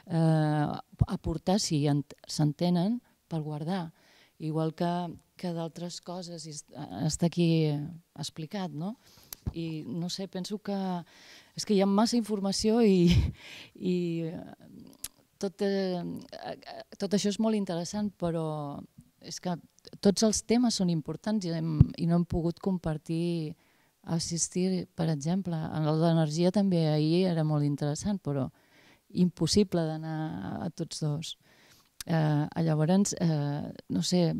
aportar, si s'entenen, per guardar. Igual que d'altres coses, està aquí explicat, no? I no sé, penso que és que hi ha massa informació i tot això és molt interessant, però és que tots els temes són importants i no hem pogut compartir, assistir, per exemple. En el d'energia també ahir era molt interessant, però impossible d'anar a tots dos. Llavors, no sé,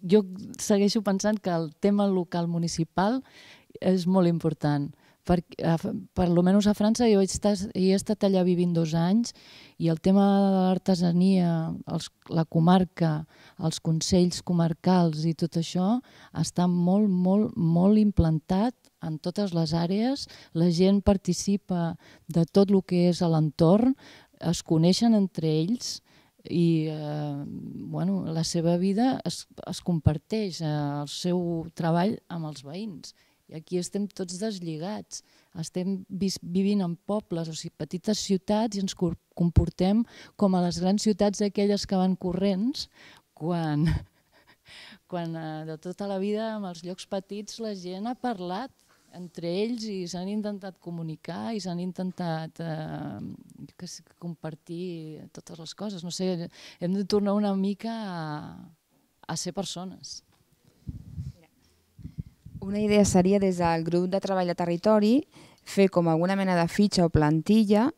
jo segueixo pensant que el tema local municipal és molt important. Per almenys a França jo he estat allà vivint 2 anys i el tema de l'artesania, la comarca, els consells comarcals i tot això està molt, molt, molt implantat en totes les àrees. La gent participa de tot el que és a l'entorn, es coneixen entre ells i la seva vida es comparteix, el seu treball amb els veïns. I aquí estem tots deslligats, estem vivint en pobles, o sigui, petites ciutats, i ens comportem com a les grans ciutats aquelles que van corrents, quan de tota la vida en els llocs petits la gent ha parlat entre ells i s'han intentat comunicar i s'han intentat compartir totes les coses. No sé, hem de tornar una mica a ser persones. Una idea seria, des del grup de treball de territori, fer com alguna mena de fitxa o plantilla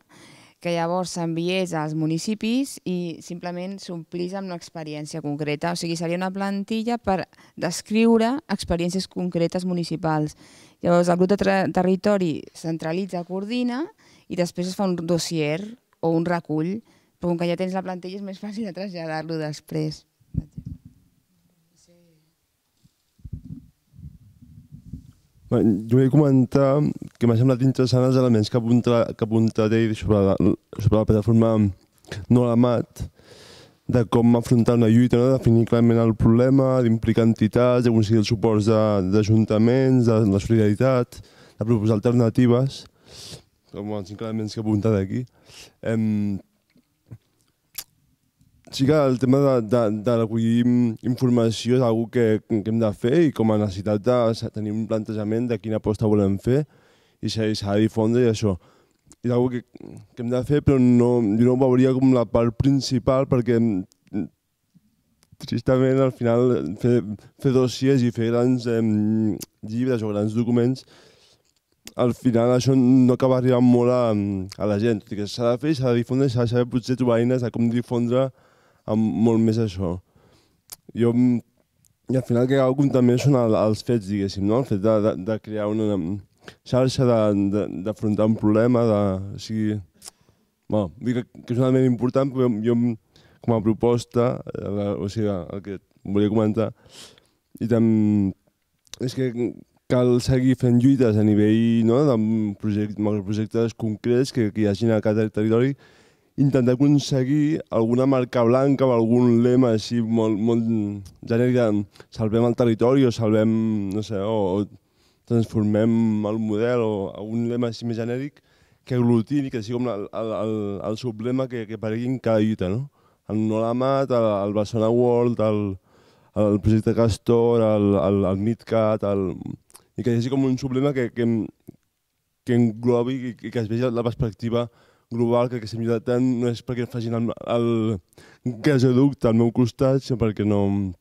que llavors s'enviés als municipis i simplement s'omplís amb una experiència concreta. O sigui, seria una plantilla per descriure experiències concretes municipals. Llavors el grup de territori centralitza, coordina i després es fa un dossier o un recull, però com que ja tens la plantilla és més fàcil de traslladar-lo després. Jo vull comentar que m'ha semblat interessant els elements que ha apuntat ell sobre la plataforma No la Mat, de com afrontar una lluita, definir clarament el problema, d'implicar entitats, d'aconseguir els suports d'ajuntaments, de la solidaritat, de proposar alternatives, com els 5 elements que ha apuntat aquí. Sí que el tema de recollir informació és una cosa que hem de fer i com a necessitat de tenir un plantejament de quina aposta volem fer i s'ha de difondre i això. És una cosa que hem de fer, però jo no ho veuria com la part principal perquè tristament al final fer dossiers i fer grans llibres o grans documents, al final això no acaba arribant molt a la gent. S'ha de fer i s'ha de difondre i s'ha de saber potser trobar eines de com difondre molt més això. I al final el que acabo també són els fets, diguéssim, el fet de crear una xarxa, d'afrontar un problema, dic que és un element important, però jo com a proposta, o sigui, el que volia comentar, i també és que cal seguir fent lluites a nivell de projectes concrets que hi hagin a cada territori, intentar aconseguir alguna marca blanca o algun lema així molt genèric de salvem el territori o salvem, no sé, o transformem el model o algun lema així més genèric que aglutini, que sigui com el sublema que aparegui en cada lluita, no? El No la Mat, el Barcelona World, el projecte Castor, el MidCat, i que hi hagi com un sublema que englobi i que es vegi la perspectiva global, que aquesta millora tant no és perquè facin el gasoducte al meu costat, sinó perquè no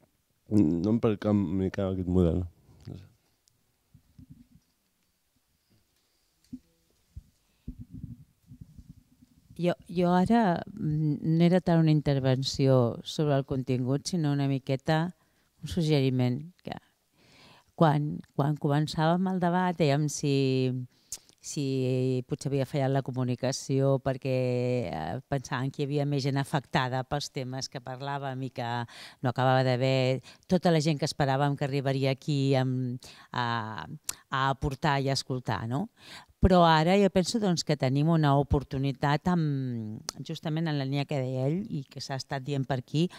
em percanviar aquest model. Jo ara no era tant una intervenció sobre el contingut, sinó una miqueta un suggeriment. Quan començàvem el debat dèiem si potser havia fallat la comunicació perquè pensaven que hi havia més gent afectada pels temes que parlàvem i que no acabava d'haver tota la gent que esperàvem que arribaria aquí a aportar i a escoltar, no? Però ara jo penso que tenim una oportunitat, justament en la línia que deia ell i que s'ha estat dient per aquí,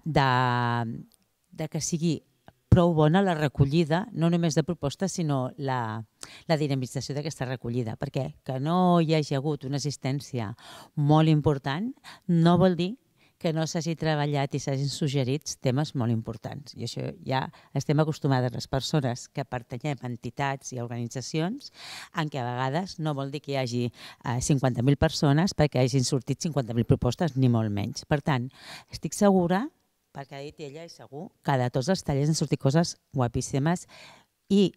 de que sigui prou bona la recollida, no només de propostes, sinó la dinamització d'aquesta recollida, perquè que no hi hagi hagut una assistència molt important no vol dir que no s'hagi treballat i s'hagin suggerit temes molt importants. I això ja estem acostumades les persones que pertanyem a entitats i organitzacions en què a vegades no vol dir que hi hagi 50.000 persones perquè hagin sortit 50.000 propostes, ni molt menys. Per tant, estic segura, perquè ha dit ella i segur, que de tots els tallers han sortit coses guapíssimes i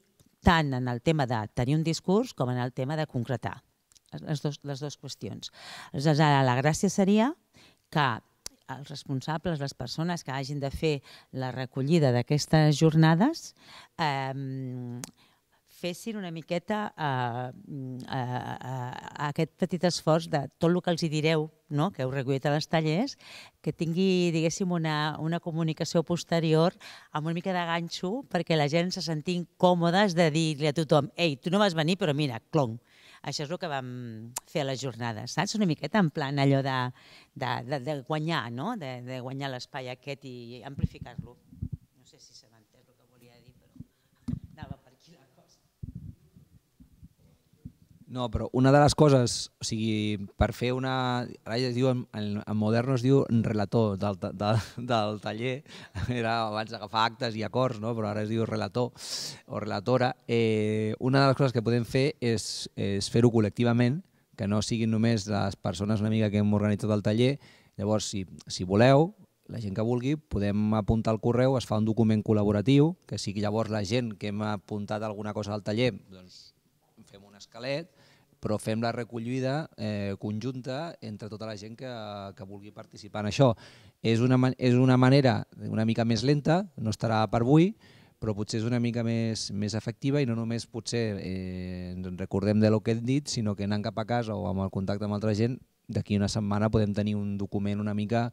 tant en el tema de tenir un discurs com en el tema de concretar les dues qüestions. Aleshores, ara la gràcia seria que els responsables, les persones que hagin de fer la recollida d'aquestes jornades fessin una miqueta aquest petit esforç de tot el que els hi direu, que heu recollit a les tallers, que tingui, diguéssim, una comunicació posterior amb una mica de ganxo perquè la gent se sentin còmodes de dir-li a tothom: ei, tu no vas venir, però mira, clonc. Això és el que vam fer a les jornades, saps? Una miqueta en plan allò de guanyar, no? De guanyar l'espai aquest i amplificar-lo. No sé si s'ha entès el que volia dir, però anava per aquí la cosa. No, però una de les coses, o sigui, per fer una... Ara ja es diu, en Moderno es diu relator del taller, era abans d'agafar actes i acords, no? Però ara es diu relator o relatora. Una de les coses que podem fer és fer-ho col·lectivament, que no siguin només les persones una mica que hem organitzat el taller. Llavors, si voleu, la gent que vulgui, podem apuntar al correu, es fa un document col·laboratiu, que sigui llavors la gent que hem apuntat alguna cosa al taller, doncs fem un esquelet, però fem la recollida conjunta entre tota la gent que vulgui participar en això. És una manera una mica més lenta, no estarà per avui, però potser és una mica més efectiva i no només potser ens recordem de lo que hem dit, sinó que anant cap a casa o amb el contacte amb altra gent, d'aquí una setmana podem tenir un document una mica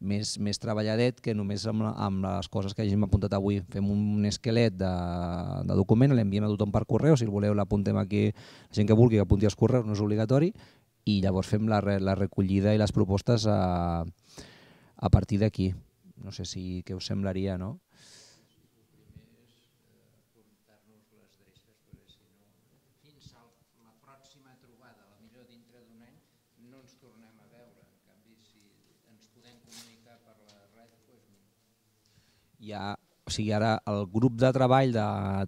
més treballadet que només amb les coses que hagin apuntat avui. Fem un esquelet de document, l'enviem a tothom per correu, si el voleu l'apuntem aquí, la gent que vulgui que apunti els correus, no és obligatori, i llavors fem la recollida i les propostes a partir d'aquí. No sé què us semblaria, no? O sigui, ara el grup de treball de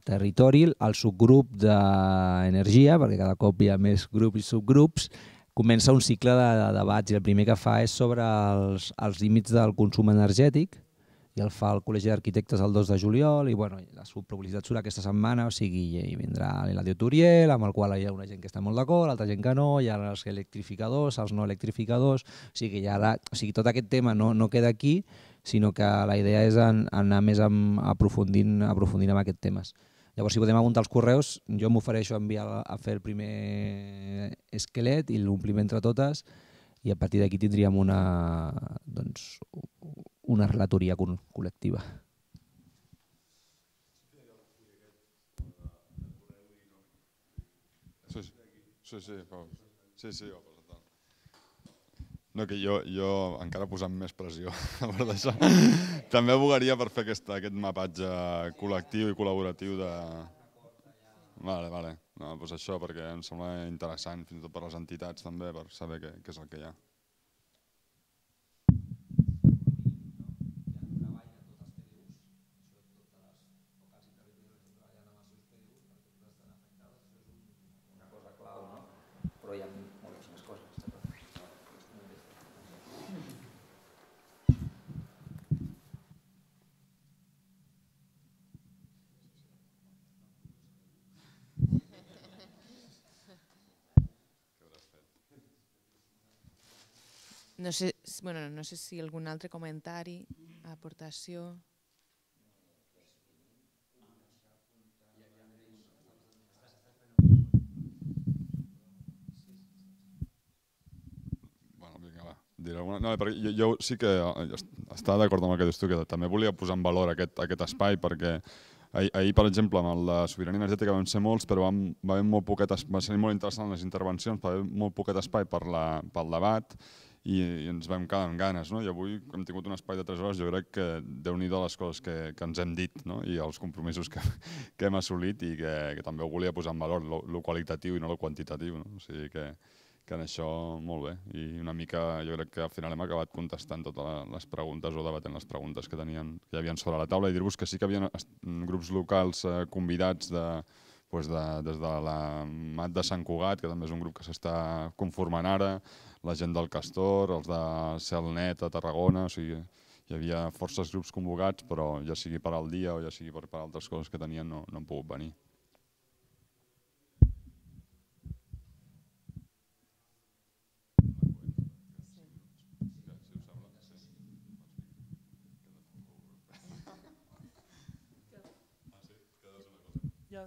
territori, el subgrup d'energia, perquè cada cop hi ha més grups i subgrups, comença un cicle de debats i el primer que fa és sobre els límits del consum energètic i el fa el Col·legi d'Arquitectes el 2 de juliol i la publicitat surt aquesta setmana, o sigui, hi vindrà l'Eladio Turiel, amb el qual hi ha una gent que està molt d'acord, altra gent que no, hi ha els electrificadors, els no electrificadors, o sigui, tot aquest tema no queda aquí, sinó que la idea és anar més aprofundint en aquests temes. Llavors, si podem apuntar els correus, jo m'ofereixo a fer el primer esquelet i l'omplim entre totes i a partir d'aquí tindríem una relatoria col·lectiva. Sí, no, que jo encara posant més pressió per d'això, també abogaria per fer aquest mapatge col·lectiu i col·laboratiu de... Vale. No, doncs això, perquè em sembla interessant, fins i tot per les entitats també, per saber què és el que hi ha. No sé si algun altre comentari, aportació... No, perquè jo sí que estava d'acord amb el que dius tu, que també volia posar en valor aquest espai, perquè ahir, per exemple, amb el de sobirania energètica vam ser molts, però va ser molt interessant les intervencions, va haver molt poquet espai pel debat, i ens vam quedar amb ganes, no? I avui hem tingut un espai de 3 hores, jo crec que Déu-n'hi-do les coses que ens hem dit, no? I els compromisos que hem assolit i que també ho volia posar en valor, lo qualitatiu i no lo quantitatiu, no? O sigui que en això molt bé, i una mica jo crec que al final hem acabat contestant totes les preguntes o debatent les preguntes que hi havia sobre la taula, i dir-vos que sí que hi havia grups locals convidats des de la Mat de Sant Cugat, que també és un grup que s'està conformant ara, la gent del Castor, els de Celnet a Tarragona, o sigui, hi havia forces grups convocats, però ja sigui per al dia o ja sigui per altres coses que tenien no han pogut venir.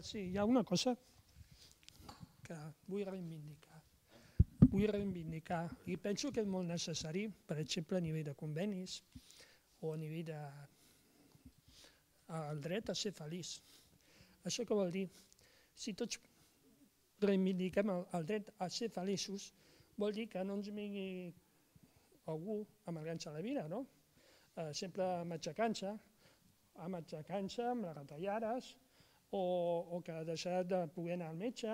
Sí, hi ha una cosa que vull reivindicar. I penso que és molt necessari, per exemple, a nivell de convenis o a nivell del dret a ser feliç. Això què vol dir? Si tots reivindiquem el dret a ser feliços, vol dir que no ens vingui algú amargant-se la vida, no? Sempre matxacant-se, amb les retallades, o que deixarà de poder anar al metge,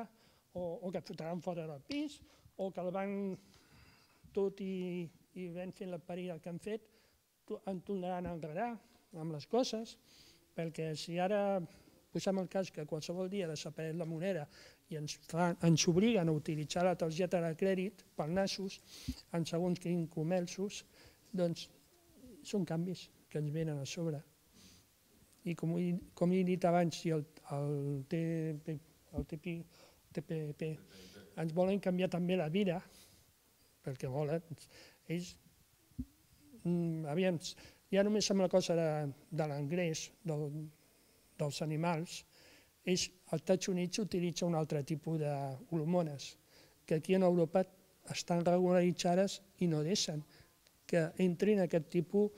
o que et fotran fora del pis, o que el banc, tot i ben fent la parida que han fet, en tornaran a enredar amb les coses, perquè si ara posem el cas que qualsevol dia desapareix la moneda i ens obliguen a utilitzar la targeta de crèdit per nassos, en segons quins comerços, doncs són canvis que ens venen a sobre. I com he dit abans, si el TPP ens volen canviar també la vida, perquè volen, ells, ja només amb la cosa de l'ingrés dels animals, ells, als Estats Units, utilitzen un altre tipus d'hormones, que aquí en Europa estan regularitzades i no deixen que entrin aquest tipus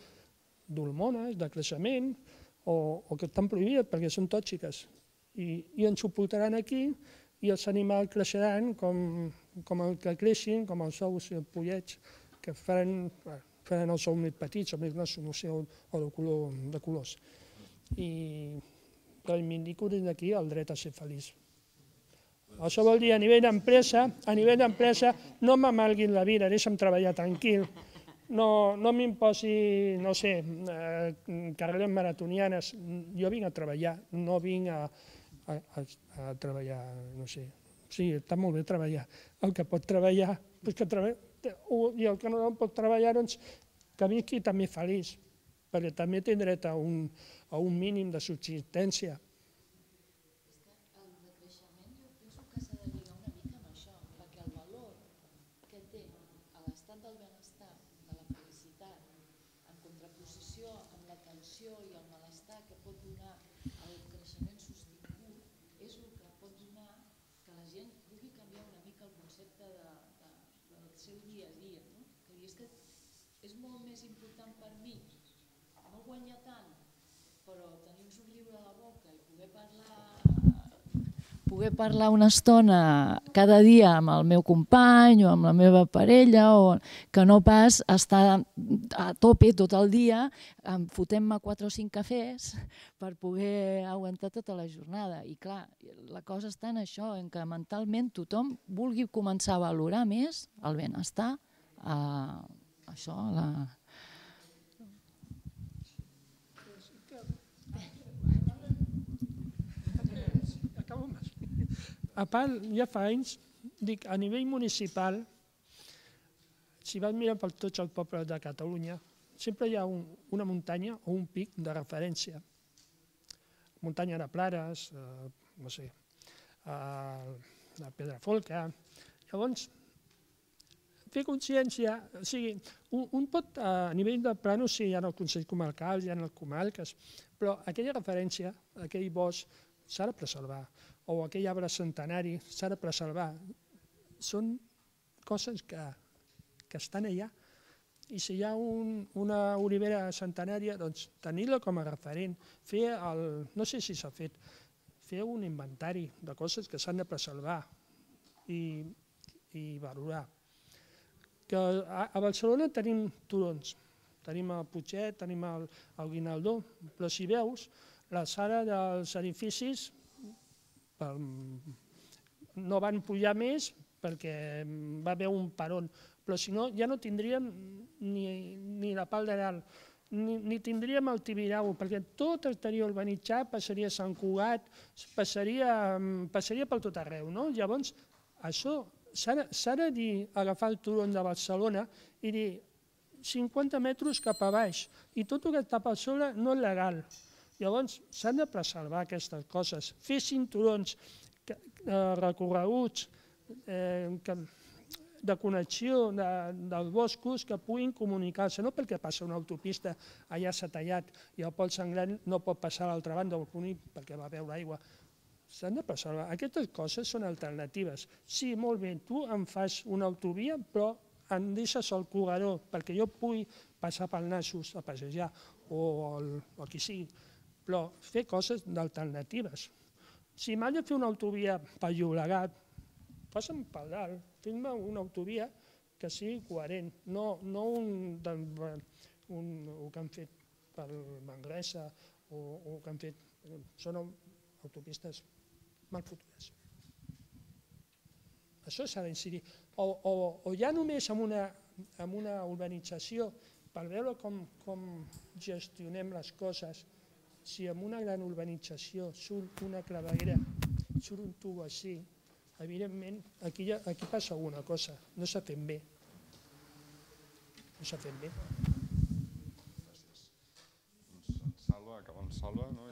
d'hormones, de creixement, o que estan prohibides perquè són tòxiques. I ens ho portaran aquí i els animals creixeran com el que creixin, com els ous i els pollets, que faran els ous més petits o més grossos, no sé, o de colors. I reivindico des d'aquí el dret a ser feliç. Això vol dir, a nivell d'empresa, no m'amalguin la vida, deixa'm treballar tranquil. No m'imposi, no sé, carreres maratonianes. Jo vinc a treballar, no vinc a treballar, no sé. Sí, està molt bé treballar. El que pot treballar, i el que no pot treballar, doncs que visqui també feliç, perquè també té dret a un mínim de subsistència. I el malestar que pot donar el creixement sostingut és el que pot donar que la gent pugui canviar una mica el concepte del seu dia a dia. És que és molt més important per mi no guanyar tant, però tenir un somriure a la boca i poder parlar una estona cada dia amb el meu company o amb la meva parella, o que no pas estar a tope tot el dia fotent-me 4 o 5 cafès per poder aguantar tota la jornada. I clar, la cosa està en això, en que mentalment tothom vulgui començar a valorar més el benestar, això, A part, ja fa anys, dic, a nivell municipal, si vas mirar per tots els pobles de Catalunya, sempre hi ha una muntanya o un pic de referència. Muntanya de Plares, no sé, la Pedrafolca. Llavors, fer consciència, o sigui, un pot, a nivell de plànols, sí, hi ha els consells comarcals, hi ha les comarques, però aquella referència, aquell bosc, s'ha de preservar, o aquell arbre centenari s'ha de preservar. Són coses que estan allà. I si hi ha una olivera centenària, doncs tenir-la com a referent, no sé si s'ha fet, fer un inventari de coses que s'han de preservar i valorar. que a Barcelona tenim turons, tenim el Putxet, tenim el Guinaldó, però si veus, la sala dels edificis no van pujar més perquè va haver un peron, però si no ja no tindríem ni la Pal d'Aral, ni tindríem el Tibidabo, perquè tot estaria urbanitzat, passaria a Sant Cugat, passaria per tot arreu. Llavors, això s'ha de dir, agafar el turon de Barcelona i dir 50 metres cap a baix, i tot el que està per sobre no és legal. Llavors, s'han de preservar aquestes coses, fer cinturons recorreguts de connexió dels boscos que puguin comunicar-se, no perquè passa una autopista, allà s'ha tallat i el Pol Sanglant no pot passar a l'altra banda del Cuní perquè va beure aigua. S'han de preservar. Aquestes coses són alternatives. Sí, molt bé, tu em fas una autovia, però em deixes el corredor perquè jo pugui passar pel Nassos a passejar o el que sigui, però fer coses d'alternatives. Si m'ha de fer una autovia pel Llobregat, passa'm per dalt, fes-me una autovia que sigui coherent, no el que han fet per Manresa o el que han fet... Són autopistes mal futures. Això s'ha d'incidir. O ja només amb una urbanització, per veure com gestionem les coses, si en una gran urbanització surt una claveguera, surt un tubo així, evidentment, aquí passa alguna cosa, no s'ha fet bé. No s'ha fet bé. Salva, acaba amb Salva, no?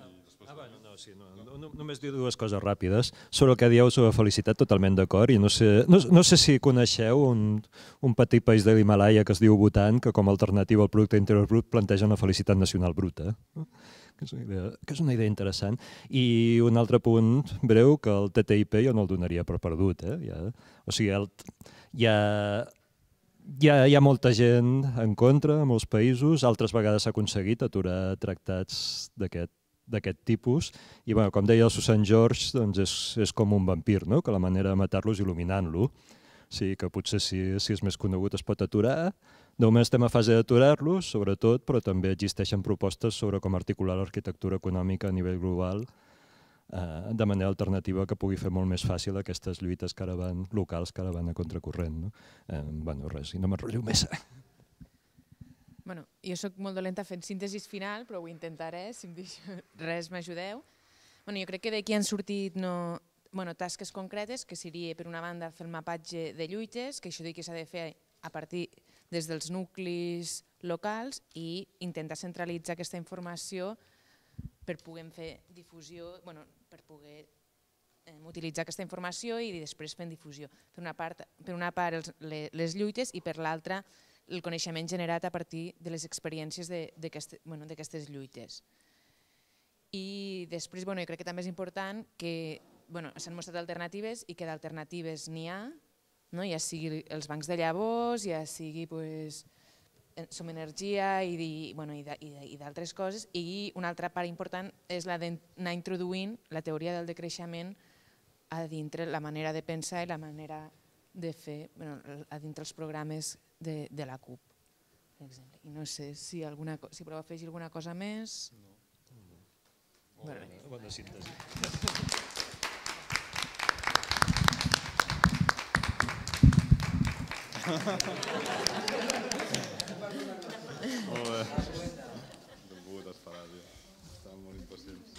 Només dir dues coses ràpides. Sobre el que dieu sobre felicitat, totalment d'acord. No sé si coneixeu un petit país de l'Himalaya que es diu Bhutan, que com a alternativa al producte interior brut planteja una felicitat nacional bruta, que és una idea interessant. I un altre punt breu, que el TTIP jo no el donaria per perdut. O sigui, hi ha molta gent en contra, a molts països, altres vegades s'ha aconseguit aturar tractats d'aquest tipus, i com deia el Susan George, és com un vampir, que la manera de matar-lo és il·luminant-lo. Sí, que potser si és més conegut es pot aturar. De moment estem a fase d'aturar-los, sobretot, però també existeixen propostes sobre com articular l'arquitectura econòmica a nivell global de manera alternativa que pugui fer molt més fàcil aquestes lluites locals que ara van a contracorrent. Res, i no m'enrotllo més. Jo soc molt dolenta fent síntesis final, però ho intentaré, si em deixo res m'ajudeu. Jo crec que d'aquí han sortit tasques concretes, que seria, per una banda, fer el mapatge de lluites, que això dic que s'ha de fer a partir des dels nuclis locals i intentar centralitzar aquesta informació per poder fer difusió, per poder utilitzar aquesta informació i després fer difusió. Per una part les lluites i per l'altra el coneixement generat a partir de les experiències d'aquestes lluites. I després jo crec que també és important que s'han mostrat alternatives i que d'alternatives n'hi ha, ja sigui els bancs de llavors, ja sigui Som Energia i d'altres coses. I una altra part important és la d'anar introduint la teoria del decreixement a dintre la manera de pensar i la manera de fer a dintre els programes de la CUP. I no sé si podeu afegir alguna cosa més. Bona síntesi. Molt bé. T'hem pogut esperar, tio. Estàvem molt impacients.